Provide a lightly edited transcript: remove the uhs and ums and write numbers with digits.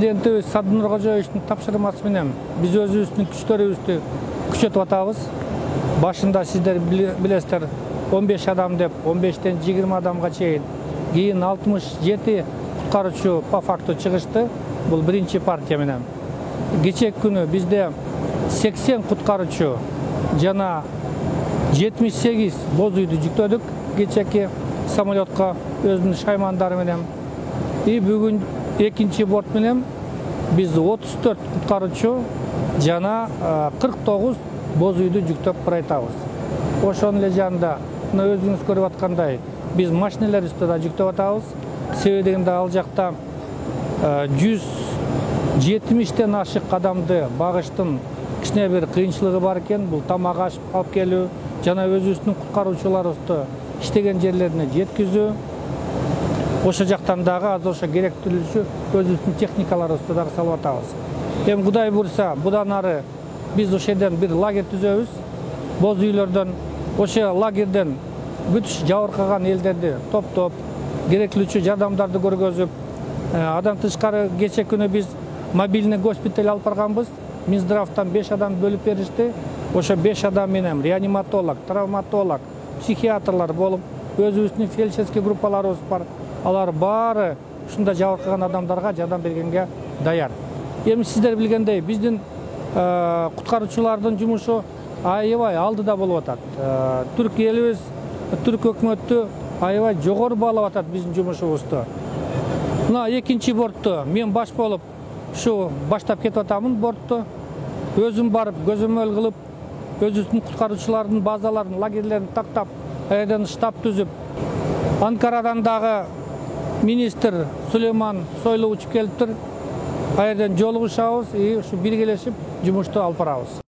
Президентибиз Садыр Кожоевичтин тапшырмасы менен биз өзүбүздүн күчтөрүбүздү күчөтүп атабыз. Башында сиздер билесиздер 15 адам деп 15тен 20 адамга чейин, кийин 67 куткаруучу по факту чыгышты. Бул биринчи партия менен. Кечеки күнү бизде 80 куткаруучу жана 78 боз үйдү жүктөдүк кечеки самолетко өзүнүн шаймандары менен. Бүгүн экинчи борт менен биз 34 куткаруучу жана 49 боз үйдү жүктөп баратабыз. Ошонун эле жанында мына өзүңүз көрүп аткандай биз машинелерибизди да жүктөп атабыз. Себеби дегенде ал жакта 170тен ашык адамды багыштын кичине бир кыйынчылыгы бар экен. Бул тамак аш алып келүү жана өзүбүздүн куткаруучуларыбызды иштеген жерлерине жеткизүү. Ошо жактан дагы азыр ошо керектүүлүгү өзүбүздүн техникаларыбызды дагы салып атабыз. Эми Кудай буйрса, будан ары биз ошол жерден бир лагерь түзөбүз. Боз үйлөрдөн ошо лагерден бүт жабыркаган элдерди топтоп, керектүүлүгү жардамдарды көргөзүп, адан тышкары кече күнү биз мобильный госпиталь алып барганбыз. Минздравтан 5 адам бөлүп беришти. Ошо 5 адам менен реаниматолог, травматолог, психиатрлар болуп, өзүбүздүн фельдшерский группаларыбыз бар. Алар баары ушундай жабыркаган адамдарга жардам бергенге даяр. Эми сиздер билгендей, биздин куткаруучулардын жумушу аябай алдыда болуп атат. Түрк элибиз, түрк өкмөтү аябай жогору баалап атат биздин жумушубузду. Мына экинчи бортту мен баш болуп ушу баштап кетип атамын бортту. Өзүм барып көзөмөл кылып, өзүбүздүн куткаруучулардын базаларын, лагерлерин тактап, аерден штаб түзүп, Анкарадан дагы министр Сулейман Сойлу учуп келиптир. Аерден жолугушабыз, ушу биргелешип жумушту алып барабыз.